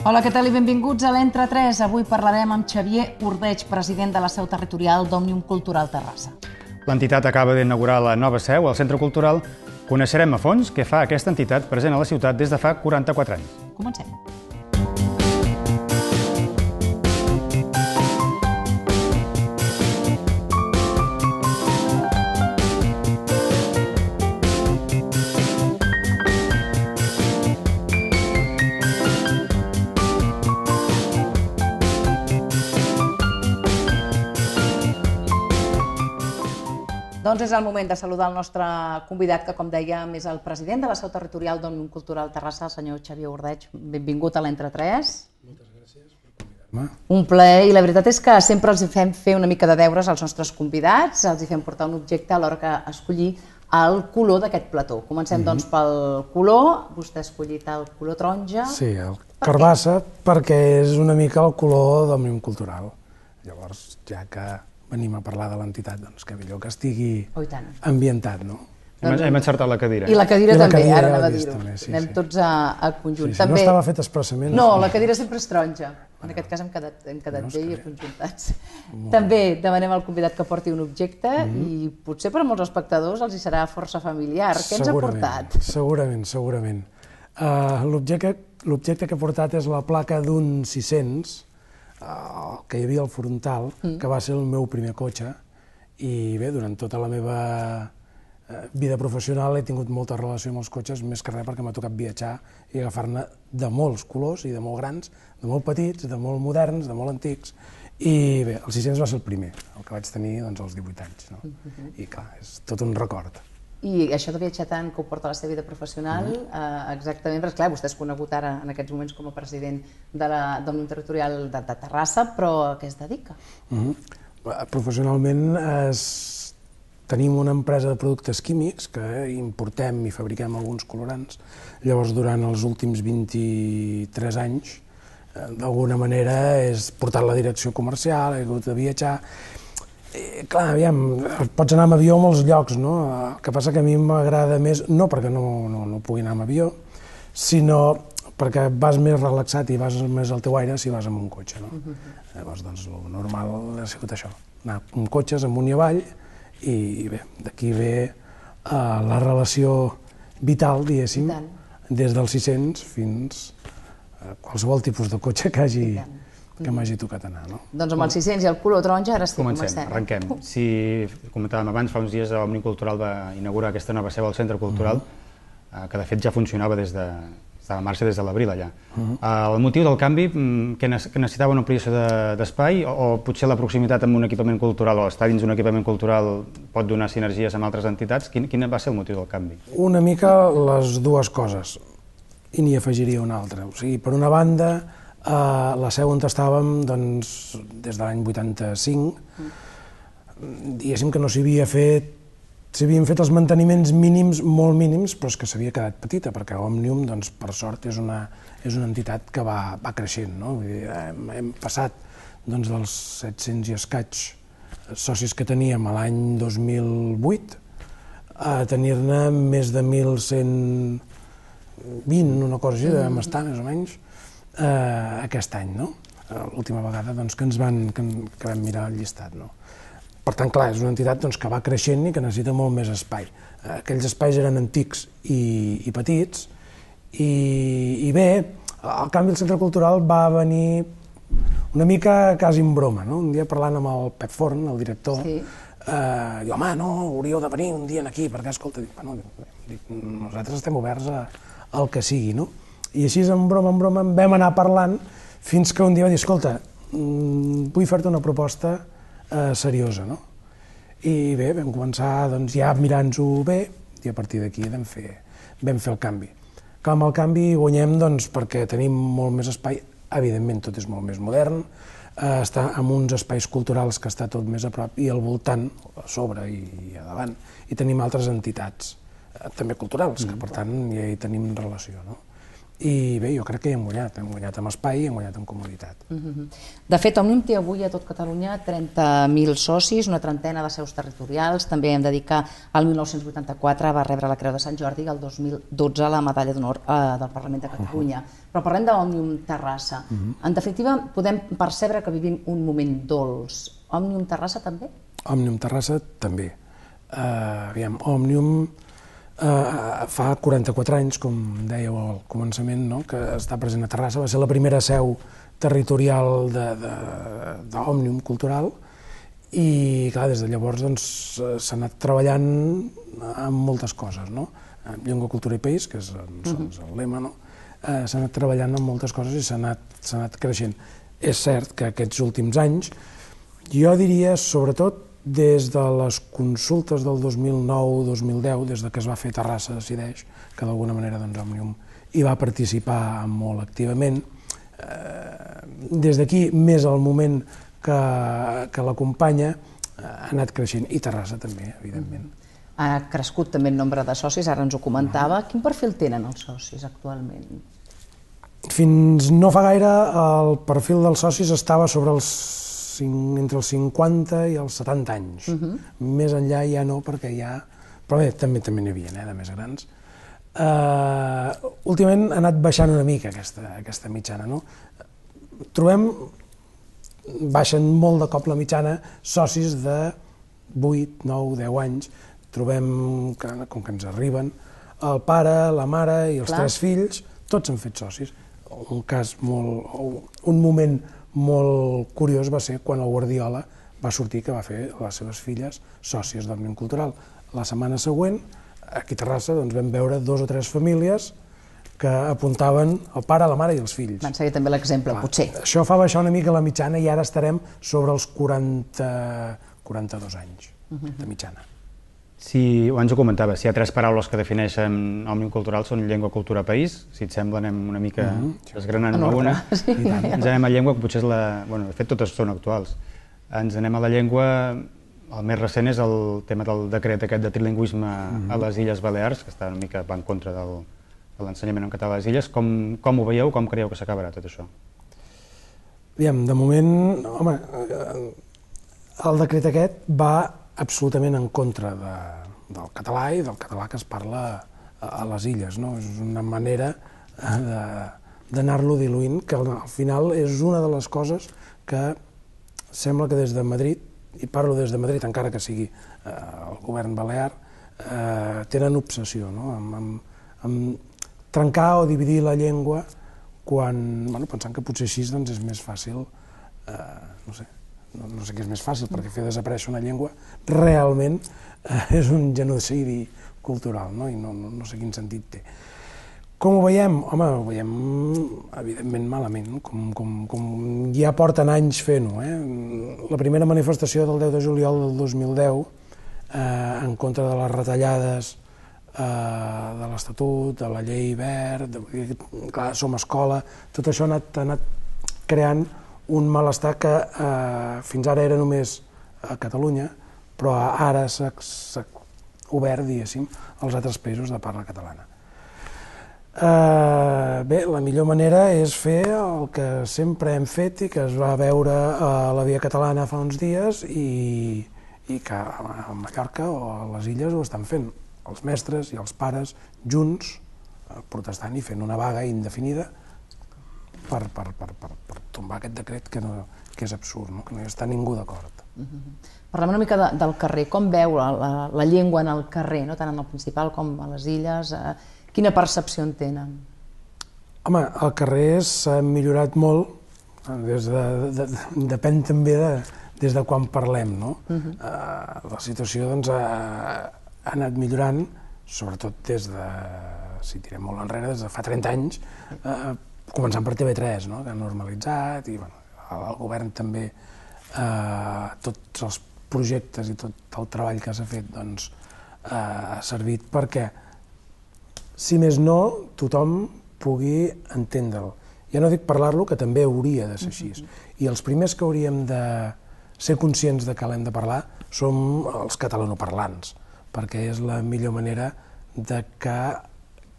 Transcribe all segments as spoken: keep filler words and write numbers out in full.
Hola, què tal i benvinguts a l'Entre tres. Avui parlarem amb Xavier Ordeig, president de la seu territorial d'Òmnium Cultural Terrassa. L'entitat acaba d'inaugurar la nova seu al Centre Cultural. Coneixerem a fons què fa aquesta entitat present a la ciutat des de fa quaranta-quatre anys. Comencem. Doncs és el moment de saludar el nostre convidat, que com dèiem és el president de la seu territorial d'Òmnium Cultural Terrassa, el senyor Xavier Ordeig. Benvingut a l'Entre tres. Moltes gràcies per convidar-me. Un plaer, i la veritat és que sempre els fem fer una mica de deures als nostres convidats, els fem portar un objecte a l'hora que escollir el color d'aquest plató. Comencem doncs pel color. Vostè ha escollit el color taronja. Sí, el carbassa, perquè és una mica el color d'Òmnium Cultural. Llavors, ja que venim a parlar de l'entitat, doncs que millor que estigui ambientat, no? Hem encertat la cadira. I la cadira també, ara anava a dir-ho. Anem tots a conjunt. No estava fet expressament. No, la cadira sempre és taronja. En aquest cas hem quedat bé i aconjuntats. També demanem al convidat que porti un objecte i potser per a molts espectadors els hi serà força familiar. Què ens ha portat? Segurament, segurament. L'objecte que he portat és la placa d'un sis-cents, que hi havia al frontal, que va ser el meu primer cotxe, i bé, durant tota la meva vida professional he tingut molta relació amb els cotxes, més que res perquè m'ha tocat viatjar i agafar-ne de molts colors i de molt grans, de molt petits, de molt moderns, de molt antics, i bé, el sis-cents va ser el primer, el que vaig tenir als divuit anys, i clar, és tot un record. I això de viatjar tant que ho porta a la seva vida professional, exactament, perquè clar, vostè és conegut ara en aquests moments com a president d'Òmnium Territorial de Terrassa, però a què es dedica? Professionalment tenim una empresa de productes químics que importem i fabriquem alguns colorants. Llavors, durant els últims vint-i-tres anys, d'alguna manera, és portar la direcció comercial, he hagut de viatjar. Clar, aviam, pots anar amb avió a molts llocs, no? El que passa que a mi m'agrada més, no perquè no pugui anar amb avió, sinó perquè vas més relaxat i vas més al teu aire si vas amb un cotxe, no? Llavors, doncs, el normal ha sigut això, anar amb cotxes amunt i avall, i bé, d'aquí ve la relació vital, diguéssim, des del sis-cents fins a qualsevol tipus de cotxe que hagi que m'hagi tocat anar, no? Doncs amb el sis-cents i el color taronja ara sí, comencem. Comencem, arrenquem. Si comentàvem abans, fa uns dies Òmnium Cultural va inaugurar aquesta nova seu al Centre Cultural, que de fet ja funcionava des de estava en marxa des de l'abril allà. El motiu del canvi, que necessitava una ampliació d'espai o potser la proximitat amb un equipament cultural o estar dins d'un equipament cultural pot donar sinergies amb altres entitats? Quin va ser el motiu del canvi? Una mica les dues coses, i n'hi afegiria una altra. O sigui, per una banda, la seu on estàvem, doncs, des de l'any vuitanta-cinc, diguéssim que no s'havia fet, s'havien fet els manteniments mínims, molt mínims, però és que s'havia quedat petita, perquè Òmnium, doncs, per sort, és una entitat que va creixent, no? Hem passat dels set-cents i escaig socis que teníem a l'any dos mil vuit a tenir-ne més de mil cent vint, una cosa així, devem estar, més o menys, aquest any, no? L'última vegada que ens vam mirar el llistat, no? Per tant, clar, és una entitat que va creixent i que necessita molt més espai. Aquells espais eren antics i petits, i bé, el canvi al Centre Cultural va venir una mica quasi en broma, no? Un dia parlant amb el Pep Forn, el director, diu, home, no, hauríeu de venir un dia aquí, perquè, escolta, nosaltres estem oberts al que sigui, no? I així, en broma, en broma, vam anar parlant fins que un dia va dir, escolta, vull fer-te una proposta seriosa, no? I bé, vam començar ja mirant-ho bé i a partir d'aquí vam fer el canvi. Que amb el canvi guanyem perquè tenim molt més espai, evidentment tot és molt més modern, està en uns espais culturals que està tot més a prop i al voltant, a sobre i a davant, i tenim altres entitats, també culturals, que per tant ja hi tenim relació, no? i bé, jo crec que hi hem guanyat, hem guanyat amb espai i hem guanyat amb comoditat. De fet, Òmnium té avui a tot Catalunya trenta mil socis, una trentena de seus territorials, també hem de dir que el mil nou-cents vuitanta-quatre va rebre la Creu de Sant Jordi i el dos mil dotze la Medalla d'Honor del Parlament de Catalunya. Però parlem d'Òmnium Terrassa. En definitiva, podem percebre que vivim un moment dolç. Òmnium Terrassa també? Òmnium Terrassa també. Aviam, Òmnium fa quaranta-quatre anys, com dèieu al començament, que està present a Terrassa, va ser la primera seu territorial d'Òmnium Cultural i, clar, des de llavors s'ha anat treballant en moltes coses, no? Llengua, cultura i país, que és el lema, no? S'ha anat treballant en moltes coses i s'ha anat creixent. És cert que aquests últims anys, jo diria, sobretot, des de les consultes del dos mil nou dos mil deu, des que es va fer Terrassa Decideix, que d'alguna manera Òmnium hi va participar molt activament, des d'aquí, més el moment que l'acompanya, ha anat creixent, i Terrassa també, evidentment. Ha crescut també el nombre de socis, ara ens ho comentava. Quin perfil tenen els socis actualment? Fins no fa gaire el perfil dels socis estava sobre els entre els cinquanta i els setanta anys. Més enllà ja no, perquè ja... Però bé, també n'hi havia, de més grans. Últimament ha anat baixant una mica aquesta mitjana. Trobem, baixen molt de cop la mitjana, socis de vuit, nou, deu anys. Trobem, com que ens arriben, el pare, la mare i els tres fills, tots han fet socis. Un cas molt... un moment molt curiós va ser quan el Guardiola va sortir que va fer les seves filles sòcies d'Òmnium Cultural. La setmana següent, aquí a Terrassa, vam veure dos o tres famílies que apuntaven el pare, la mare i els fills. Van seguir també l'exemple, potser. Això fa baixar una mica la mitjana i ara estarem sobre els quaranta, quaranta-dos anys de mitjana. Si, abans ho comentava, si hi ha tres paraules que defineixen Òmnium Cultural són llengua, cultura, país. Si et sembla, anem una mica desgranant una. Ens anem a llengua, que potser és la... Bueno, de fet, totes són actuals. Ens anem a la llengua, el més recent és el tema del decret aquest de trilingüisme a les Illes Balears, que està una mica en contra de l'ensenyament en català a les illes. Com ho veieu? Com creieu que s'acabarà tot això? Aviam, de moment, home, el decret aquest va absolutament en contra del català i del català que es parla a les illes. És una manera d'anar-lo diluint, que al final és una de les coses que sembla que des de Madrid, i parlo des de Madrid encara que sigui el govern balear, tenen obsessió en trencar o dividir la llengua pensant que potser així és més fàcil, no sé, no sé què és més fàcil, perquè fer desaparèixer una llengua realment és un genocidi cultural, i no sé quin sentit té. Com ho veiem? Home, ho veiem evidentment malament, com ja porten anys fent-ho. La primera manifestació del deu de juliol del dos mil deu en contra de les retallades de l'Estatut, de la llei Wert, clar, som escola, tot això ha anat creant un malestar que fins ara era només a Catalunya, però ara s'ha obert, diguéssim, als altres països de parla catalana. Bé, la millor manera és fer el que sempre hem fet i que es va veure a la Via Catalana fa uns dies i que a Mallorca o a les illes ho estan fent. Els mestres i els pares junts protestant i fent una vaga indefinida per tombar aquest decret que és absurd, que no hi està ningú d'acord. Parlem una mica del carrer. Com veu la llengua en el carrer, tant en el principal com a les illes? Quina percepció en tenen? Home, el carrer s'ha millorat molt, depèn també des de quan parlem. La situació ha anat millorant, sobretot des de, si tirem molt enrere, des de fa trenta anys, començant per T V tres, que ha normalitzat, i el govern també, tots els projectes i tot el treball que s'ha fet ha servit perquè, si més no, tothom pugui entendre'l. Ja no dic parlar-lo, que també hauria de ser així. I els primers que hauríem de ser conscients de que l'hem de parlar som els catalanoparlants, perquè és la millor manera de que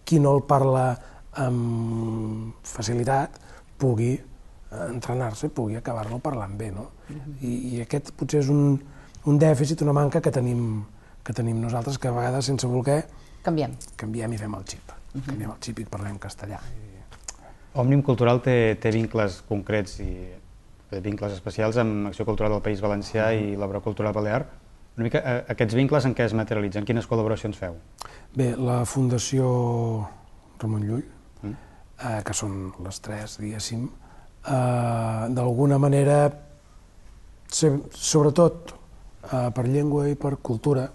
qui no el parla amb facilitat pugui entrenar-se, pugui acabar-lo parlant bé, no? I, i aquest potser és un, un dèficit, una manca que tenim, que tenim nosaltres, que a vegades, sense voler, canviem. Canviem i fem el xip. Uh -huh. Canviem el xip i parlem castellà. Òmnium Cultural té, té vincles concrets i té vincles especials amb Acció Cultural del País Valencià uh -huh. i l'Obra Cultural Balear. Una mica, eh, aquests vincles en què es materialitzen? Quines col·laboracions feu? Bé, la Fundació Ramon Llull, mm. eh, que són les tres, diguéssim, eh, d'alguna manera, sobretot eh, per llengua i per cultura,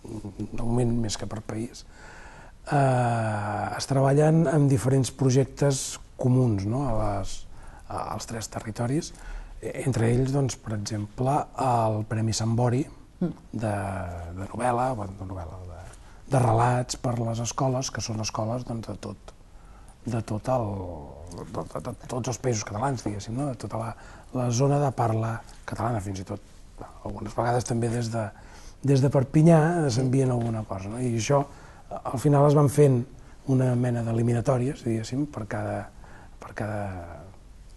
de moment més que per país, eh, es treballen en diferents projectes comuns, no?, a les, als tres territoris, entre ells, doncs, per exemple, el Premi Sambori de, de novel·la, de, novel·la de, de relats per les escoles, que són escoles doncs, de tot, de, tot el, de, de, de tots els països catalans, diguéssim, no?, de tota la, la zona de parla catalana, fins i tot, algunes vegades també des de, des de Perpinyà s'envien alguna cosa, no? I això, al final es van fent una mena d'eliminatòries, diguéssim, per cada, per cada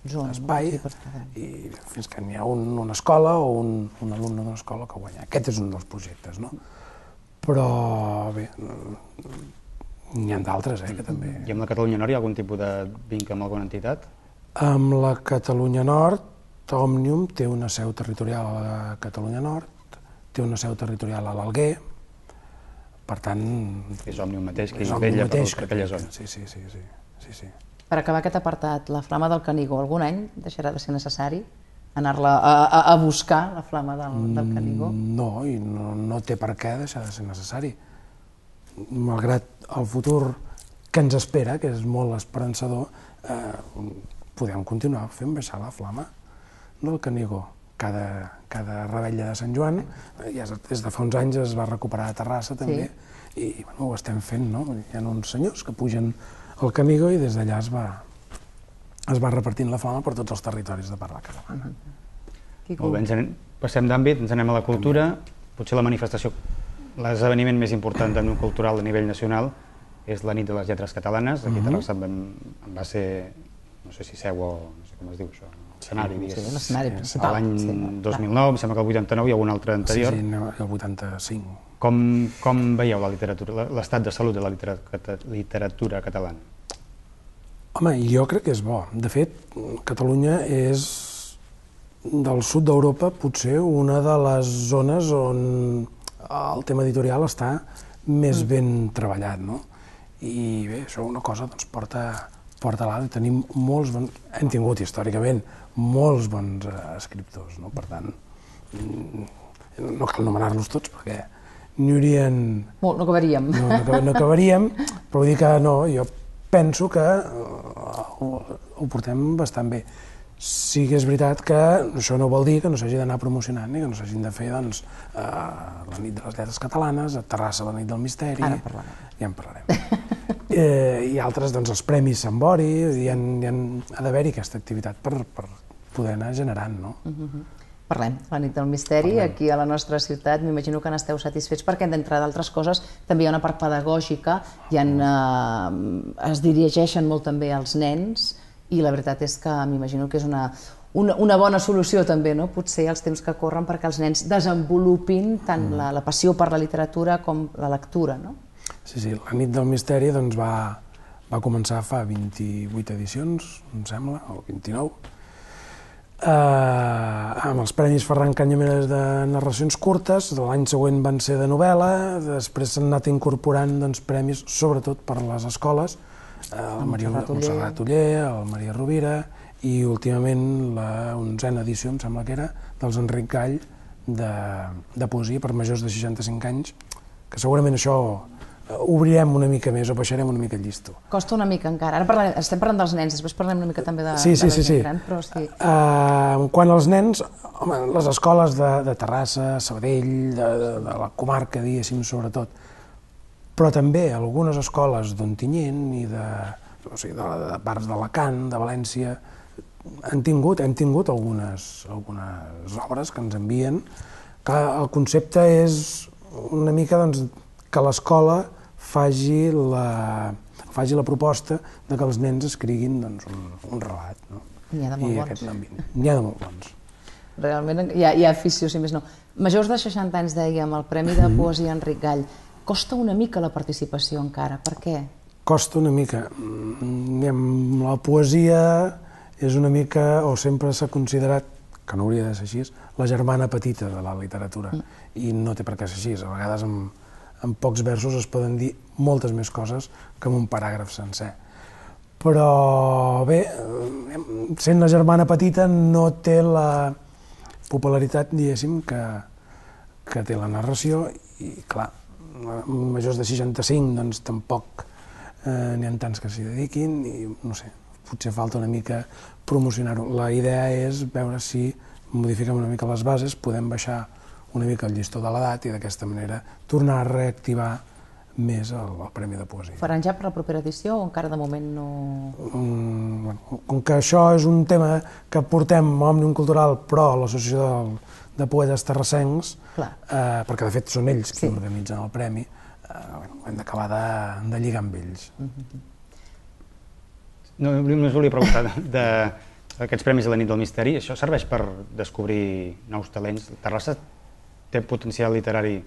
zona, espai, sí, i fins que n'hi ha un, una escola o un, un alumne d'una escola que guanya. Aquest és un dels projectes, no? Però, bé, n'hi ha d'altres, eh, que també... I amb la Catalunya Nord hi ha algun tipus de vincle amb alguna entitat? Amb la Catalunya Nord, Òmnium té una seu territorial a la Catalunya Nord, té una seu territorial a l'Alguer, per tant... És Òmnium mateix, que és hi vella per que aquella zona. Sí, sí, sí, sí, sí, sí. Per acabar aquest apartat, la flama del Canigó, algun any deixarà de ser necessari anar-la a, a, a buscar, la flama del, del Canigó? No, i no, no té per què deixar de ser necessari. Malgrat el futur que ens espera, que és molt esperançador, eh, podem continuar fent baixar la flama del Canigó. Cada, cada revetlla de Sant Joan, ja des de fa uns anys es va recuperar a Terrassa també, sí. I bueno, ho estem fent, no? Hi ha uns senyors que pugen al Canigó i des d'allà es va, es va repartint la flama per tots els territoris de parla catalana. Uh-huh. Molt bé, ens anem, passem d'àmbit, ens anem a la cultura. Potser la manifestació, l'esdeveniment més important d'Òmnium Cultural a nivell nacional és la nit de les lletres catalanes. Aquí a Terrassa va ser, no sé si seu o no sé com es diu això, l'escenari, diguéssim. Sí, l'escenari principal. L'any dos mil nou, em sembla que el vuitanta-nou i algun altre anterior. Sí, sí, el vuitanta-cinc. Com, com veieu la literatura, l'estat de salut de la literatura, literatura catalana? Home, jo crec que és bo. De fet, Catalunya és del sud d'Europa potser una de les zones on el tema editorial està més ben treballat, no? I bé, això una cosa doncs, porta, porta a l'altra. Tenim molts bons, hem tingut històricament molts bons eh, escriptors, no? Per tant, no cal anomenar-los tots perquè n'hi haurien... Molt, no acabaríem. No, no, no acabaríem, però vull dir que no, jo penso que ho, ho portem bastant bé. Sí que és veritat que això no vol dir que no s'hagi d'anar promocionant ni que no s'hagin de fer doncs, eh, la nit de les lletres catalanes, a Terrassa la nit del misteri... Ara parlarem. Ja en parlarem. eh, I altres, doncs, els Premis Sambori, hi ha, hi ha, ha d'haver-hi aquesta activitat per, per poder anar generant, no? Uh-huh. Parlem, la nit del misteri, Parlem. Aquí a la nostra ciutat, m'imagino que n'esteu satisfets perquè, d'entre d'altres coses, també hi ha una part pedagògica, hi ha, eh, es dirigeixen molt també als nens, i la veritat és que m'imagino que és una, una, una bona solució també, no? Potser els temps que corren perquè els nens desenvolupin tant la, la passió per la literatura com la lectura, no? Sí, sí, la nit del misteri doncs, va, va començar fa vint-i-vuit edicions, em sembla, o vint-i-nou, eh, amb els Premis Ferran Canyameres de narracions curtes. L'any següent van ser de novel·la, després s'han anat incorporant doncs, premis sobretot per les escoles, el Maria Montserrat Oller, el Maria Rovira i últimament la onzena edició, em sembla que era, dels Enric Gall de, de poesia per majors de seixanta-cinc anys, que segurament això obrirem una mica més o baixarem una mica el llistó. Costa una mica encara. Ara parlarem, estem parlant dels nens, després parlem una mica també de, sí, sí, de la sí, gent sí. gran, però sí. Uh, quan als nens, home, les escoles de, de Terrassa, Sabadell, de, de, de la comarca, diguéssim, sobretot, però també algunes escoles d'Ontinyent i de, o sigui, de, de parts d'Alacant, de València, han tingut, hem tingut algunes, algunes obres que ens envien, que el concepte és una mica doncs, que l'escola faci la, faci la proposta de que els nens escriguin un relat. N'hi ha de molt bons. N'hi ha de molt bons. Realment hi ha afició, si més no. Majors de seixanta anys, dèiem, el Premi de Poesia Enric Gall. Costa una mica la participació encara, per què? Costa una mica. La poesia és una mica, o sempre s'ha considerat, que no hauria de ser així, la germana petita de la literatura, i no té per què ser així. A vegades en pocs versos es poden dir moltes més coses que en un paràgraf sencer. Però bé, sent la germana petita no té la popularitat, diguéssim, que té la narració, i clar, majors de seixanta-cinc doncs tampoc n'hi ha tants que s'hi dediquin i no sé, potser falta una mica promocionar-ho. La idea és veure si modifiquem una mica les bases, podem baixar una mica el llistó de l'edat i d'aquesta manera tornar a reactivar més el Premi de Poesia. Faran ja per la propera edició o encara de moment no...? Com que això és un tema que portem a Òmnium Cultural, però a l'Associació de Poetes Terrassencs, perquè de fet són ells qui organitzen el premi, hem d'acabar de lligar amb ells. Només volia preguntar d'aquests Premis de la Nit del Misteri, això serveix per descobrir nous talents? Terrassa té potencial literari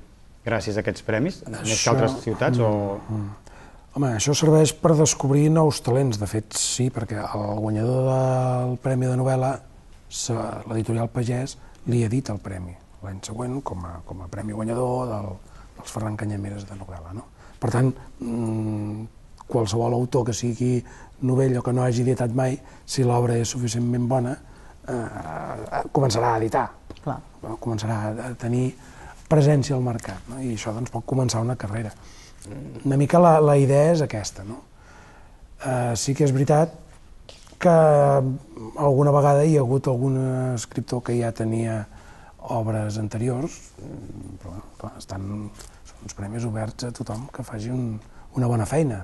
gràcies a aquests premis, més que altres ciutats? Home, això serveix per descobrir nous talents, de fet sí, perquè el guanyador del Premi de Novel·la, l'editorial Pagès, li ha dit el premi l'any següent com a premi guanyador dels Ferran Canyameres de novel·la. Per tant, qualsevol autor que sigui novell o que no hagi editat mai, si l'obra és suficientment bona, començarà a editar, començarà a tenir presència al mercat, i això pot començar una carrera. Una mica la idea és aquesta. Sí que és veritat que alguna vegada hi ha hagut algun escriptor que ja tenia obres anteriors, però clar, són uns premis oberts a tothom que faci una bona feina.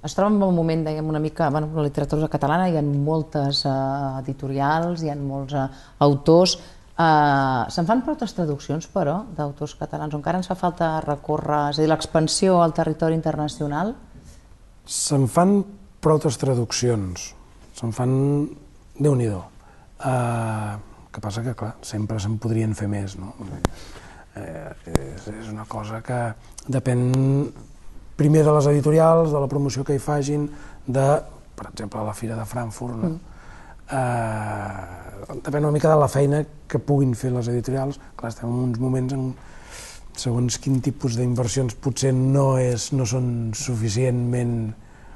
Es troba en un moment, dèiem, una mica, en la literatura catalana hi ha moltes editorials, hi ha molts autors. Se'n fan prou traduccions, però, d'autors catalans? Encara ens fa falta recórrer, és a dir, l'expansió al territori internacional? Se'n fan prou traduccions, se'n fan déu-n'hi-do. El que passa que, clar, sempre se'n podrien fer més, no? És una cosa que depèn primer de les editorials, de la promoció que hi facin, de, per exemple, la Fira de Frankfurt, no? Depèn una mica de la feina que puguin fer les editorials. Clar, estem en uns moments en segons quin tipus d'inversions potser no són suficientment,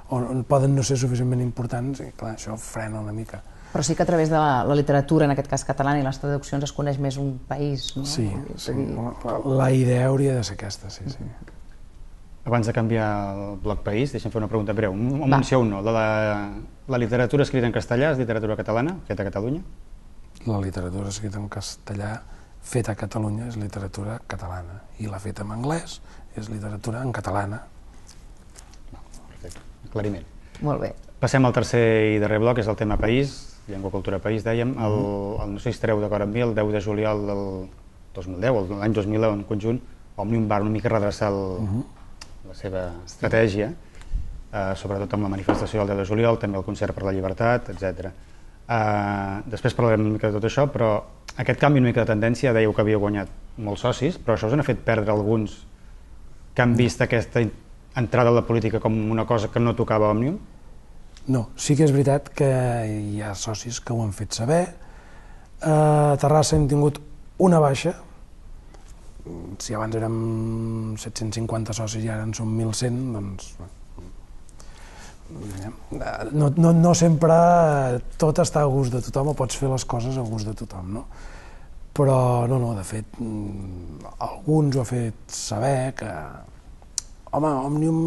o poden no ser suficientment importants, i clar, això frena una mica. Però sí que a través de la literatura, en aquest cas catalana, i les traduccions es coneix més un país, no? Sí, la idea hauria de ser aquesta, sí, sí. Abans de canviar el bloc país, deixa'm fer una pregunta breu. Un sí o un no. La literatura escrita en castellà és literatura catalana, feta a Catalunya? La literatura escrita en castellà feta a Catalunya és literatura catalana, i la feta en anglès és literatura en catalana. Perfecte, aclariment. Molt bé. Passem al tercer i darrer bloc, és el tema país, llengua, cultura, país, dèiem. No sé si estareu d'acord amb mi, el deu de juliol del dos mil deu, l'any dos mil deu en conjunt, Òmnium va una mica redreçar la seva estratègia, sobretot amb la manifestació del deu de juliol, també el concert per la llibertat, etcètera. Després parlarem una mica de tot això, però aquest canvi una mica de tendència, dèieu que havia guanyat molts socis, però això us ha fet perdre alguns que han vist aquesta entrada a la política com una cosa que no tocava a Òmnium? No, sí que és veritat que hi ha socis que ho han fet saber. A Terrassa hem tingut una baixa. Si abans érem set-cents cinquanta socis i ara en som mil cent, doncs... No sempre tot està a gust de tothom, o pots fer les coses a gust de tothom, no? Però, no, no, de fet, alguns ho ha fet saber que... Home, Òmnium,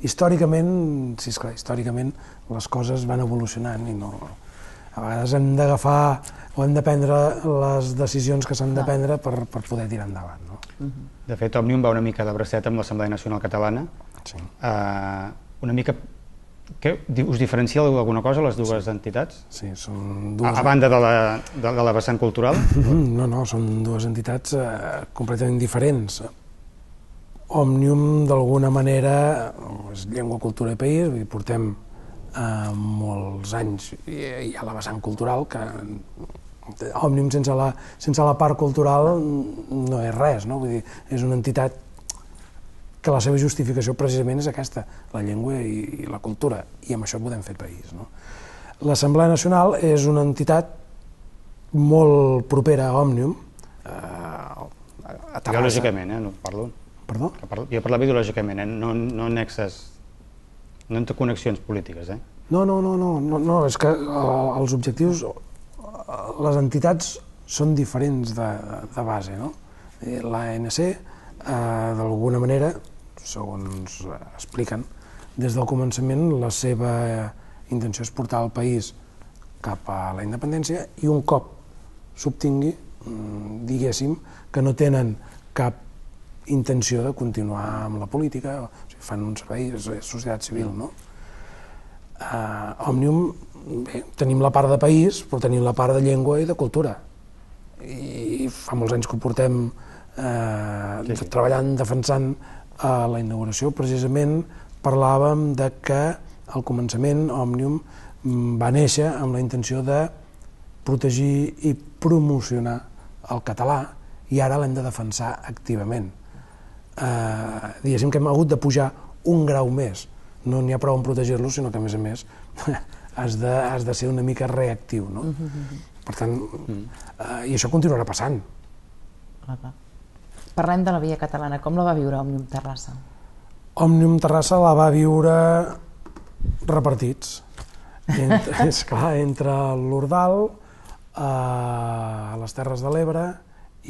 històricament, sí, esclar, històricament les coses van evolucionant i no... A vegades hem d'agafar o hem de prendre les decisions que s'han de prendre per poder tirar endavant, no? De fet, Òmnium va una mica de bracet amb l'Assemblea Nacional Catalana. Sí. Una mica... Us diferencia alguna cosa, les dues entitats? Sí, són dues... A banda de la vessant cultural? No, no, són dues entitats completament diferents. Òmnium, d'alguna manera, és llengua, cultura i país, vull dir, portem eh, molts anys, i hi ha la vessant cultural, que Òmnium sense la, sense la part cultural no és res, no? Vull dir, és una entitat que la seva justificació precisament és aquesta, la llengua i, i la cultura, i amb això podem fer país, no? L'Assemblea Nacional és una entitat molt propera a Òmnium, eh, a Terrassa. Ideològicament, eh? No parlo. Perdó? Que parlo, jo parlava ideològicament, eh? No, no nexes, no entre connexions polítiques, eh? No, no, no, no, no, no, és que eh, els objectius, eh, les entitats són diferents de, de base, no? L'A N C, eh, d'alguna manera, segons expliquen, des del començament la seva intenció és portar el país cap a la independència i un cop s'obtingui, diguéssim, que no tenen cap intenció de continuar amb la política, o sigui, fan un servei, és societat civil, no? Uh, Òmnium, bé, tenim la part de país, però tenim la part de llengua i de cultura. I fa molts anys que ho portem eh, sí, sí. treballant, defensant a la inauguració. Precisament parlàvem de que al començament Òmnium va néixer amb la intenció de protegir i promocionar el català i ara l'hem de defensar activament. Eh, diguéssim que hem hagut de pujar un grau més. No n'hi ha prou en protegir-lo, sinó que a més a més has de, has de ser una mica reactiu, no? Mm-hmm. Per tant, eh, i això continuarà passant. Clar, clar. Parlem de la Via Catalana. Com la va viure Òmnium Terrassa? Òmnium Terrassa la va viure repartits. Entre, és clar, entre l'Ordal, a les Terres de l'Ebre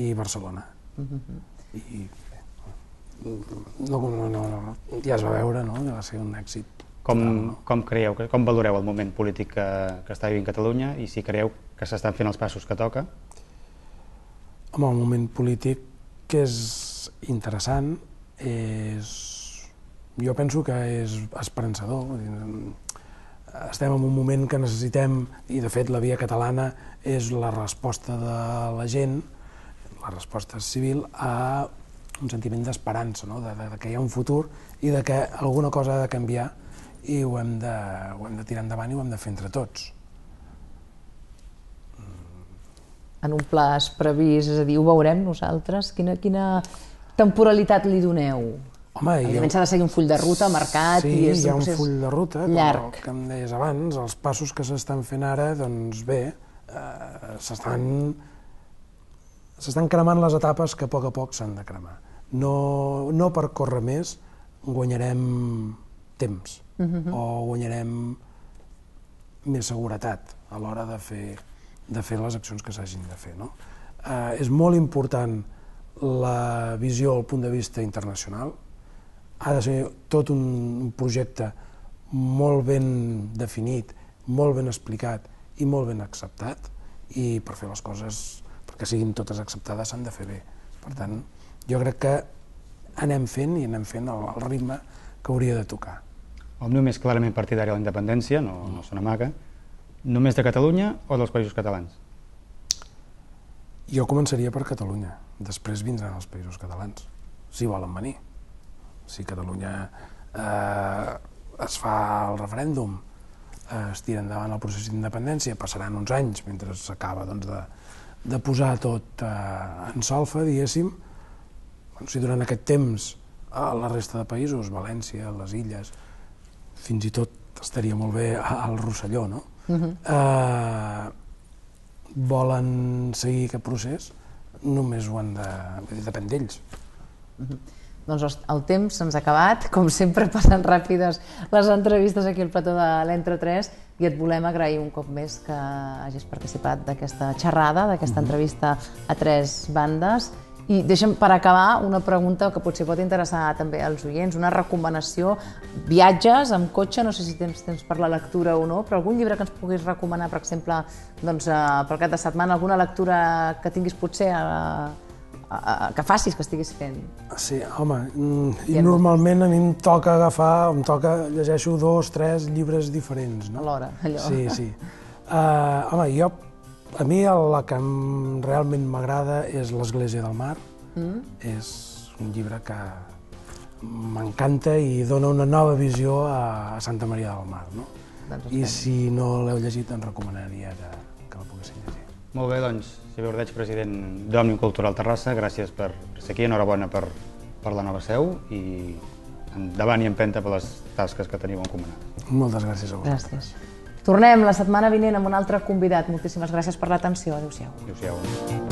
i Barcelona. Mm-hmm. I bé, no, no, no, ja es va veure, no? Va ser un èxit. Com, total, no? com creieu, com valoreu el moment polític que, que està vivint Catalunya i si creieu que s'estan fent els passos que toca? Home, el moment polític que és interessant, és... jo penso que és esperançador. Estem en un moment que necessitem, i de fet la Via Catalana és la resposta de la gent, la resposta civil, a un sentiment d'esperança, no? de, de, de que hi ha un futur i de que alguna cosa ha de canviar i ho hem de, ho hem de tirar endavant i ho hem de fer entre tots. En un plaç previst, és a dir, ho veurem nosaltres? Quina, quina temporalitat li doneu? Home, evidentment s'ha de seguir un full de ruta marcat. Sí, i és hi ha un full de ruta, llarg. Però, que em deies abans, els passos que s'estan fent ara, doncs bé, eh, s'estan s'estan cremant les etapes que a poc a poc s'han de cremar. No, no per córrer més guanyarem temps, uh-huh. o guanyarem més seguretat a l'hora de fer, de fer les accions que s'hagin de fer, no? Eh, és molt important la visió al punt de vista internacional. Ha de ser tot un projecte molt ben definit, molt ben explicat i molt ben acceptat, i per fer les coses, perquè siguin totes acceptades, s'han de fer bé. Per tant, jo crec que anem fent i anem fent el, el ritme que hauria de tocar. Òmnium és clarament partidari de la independència, no, no se n'amaga. Només de Catalunya o dels països catalans? Jo començaria per Catalunya, després vindran els països catalans, si volen venir. Si Catalunya eh, es fa el referèndum, eh, es tira endavant el procés d'independència, passaran uns anys mentre s'acaba doncs, de, de posar tot eh, en solfa, diguéssim. Bueno, si durant aquest temps a la resta de països, València, les Illes, fins i tot estaria molt bé al Rosselló, no? Uh-huh. eh, volen seguir aquest procés, només ho han de... depèn d'ells. Uh-huh. Doncs el temps se'ns ha acabat, com sempre passen ràpides les entrevistes aquí al plató de l'Entre tres, i et volem agrair un cop més que hagis participat d'aquesta xerrada, d'aquesta entrevista a tres bandes. I deixa'm per acabar una pregunta que potser pot interessar també als oients, una recomanació. Viatges amb cotxe, no sé si tens temps per la lectura o no, però algun llibre que ens puguis recomanar, per exemple, doncs, pel cap de setmana, alguna lectura que tinguis potser a, a, a, que facis, que estiguis fent. Sí, home, i normalment a mi em toca agafar, em toca, llegeixo dos, tres llibres diferents, no? Alhora, allò. Sí, sí. Uh, home, jo, a mi la que realment m'agrada és L'Església del Mar. Mm. És un llibre que, m'encanta i dona una nova visió a Santa Maria del Mar. No? Doncs I espero. si no l'heu llegit, doncs recomanaria que, que la poguessin llegir. Molt bé, doncs, Xavier Ordeig, president d'Òmnium Cultural Terrassa, gràcies per ser aquí, enhorabona per, per la nova seu i endavant i empenta per les tasques que teniu encomanades. Moltes gràcies a vosaltres. Gràcies. Tornem la setmana vinent amb un altre convidat. Moltíssimes gràcies per l'atenció. Adéu-siau. Adéu-siau.